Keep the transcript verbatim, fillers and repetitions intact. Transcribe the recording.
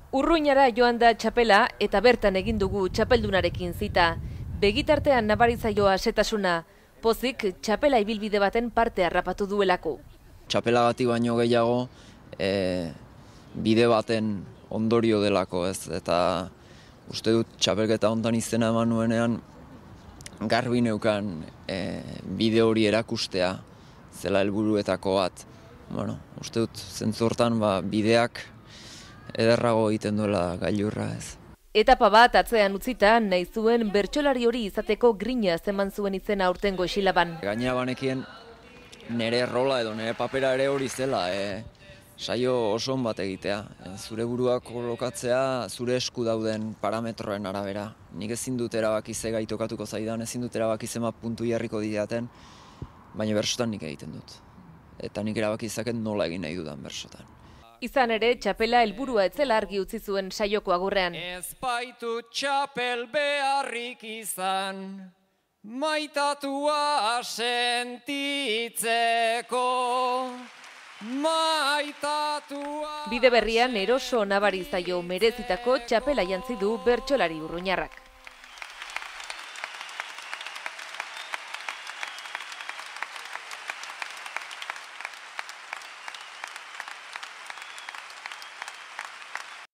Urruñara joan da txapela eta bertan egin dugu txapeldunarekin zita. Begitartean nabarizaioa setasuna, pozik txapela ibilbide baten parte harrapatu duelako. Txapelagatik baino gehiago e, bide baten ondorio delako, ez, eta uste dut txapelketa hontan izena eman nuenean garbi neukan e, bide hori erakustea zela helburuetako bat. Bueno, uste dut zentzu hortan ba, bideak ederrago egiten duela gailurra, ez. Etapa bat atzean utzita, nahi zuen bertsolari hori izateko grina eman zuen izena aurtengo isilaban. Gainera banekien nire rola edo nire papera ere hori zela, e, saio oso on bat egitea. E, zure buruak kolokatzea zure esku dauden parametroen arabera. Nik ezin dut erabaki ze gai tokatuko zaidan, ezin dut erabaki zema puntu jarriko didaten, baina bersotan nik egiten dut. Eta nik erabaki izaket nola egin nahi dudan bersotan. Izan ere, txapela helburua etzela argi utzi zuen saioko agurrean. Ez baitu txapel beharrik izan, maitatua sentitzeko, maitatua... Bide berrian eroso nabari zaio merezitako txapela jantzi du bertsolari urruñarrak.